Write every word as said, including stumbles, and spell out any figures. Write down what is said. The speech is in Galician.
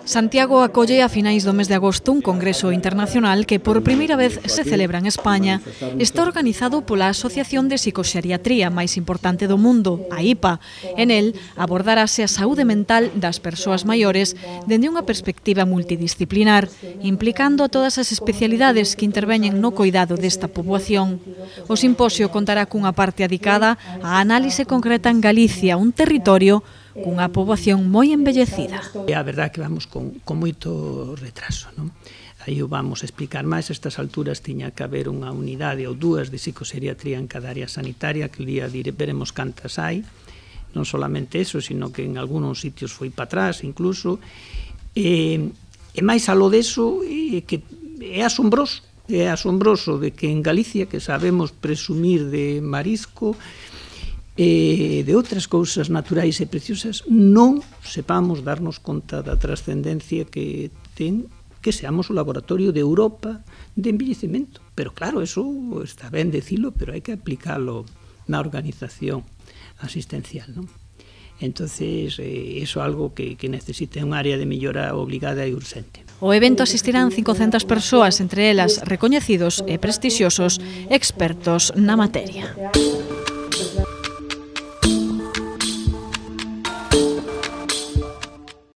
Santiago acolle a finais do mes de agosto un congreso internacional que por primeira vez se celebra en España. Está organizado pola Asociación de Psicoxeriatría máis importante do mundo, a I P A. En el abordarase a saúde mental das persoas maiores dende unha perspectiva multidisciplinar, implicando a todas as especialidades que interveñen no coidado desta poboación. O simposio contará cunha parte adicada á análise concreta en Galicia, un territorio cunha poboación moi envellecida. É a verdade que vamos con, con moito retraso, non? Aí o vamos a explicar máis. A estas alturas tiña que haber unha unidade ou dúas de psicoxeriatría en cada área sanitaria, que el día veremos cantas hai, non solamente eso, sino que en algúns sitios foi para atrás incluso, e, e máis aló deso, e, que é asombroso, é asombroso de que en Galicia, que sabemos presumir de marisco, e de outras cousas naturais e preciosas, non sepamos darnos conta da trascendencia que ten que seamos o laboratorio de Europa de envellecemento. Pero claro, eso está ben decilo, pero hai que aplicalo na organización asistencial, non? Entonces, eh, eso é algo que, que necesita un área de mellora obligada e urgente. O evento asistirán cincocentas persoas, entre elas recoñecidos e prestixiosos expertos na materia.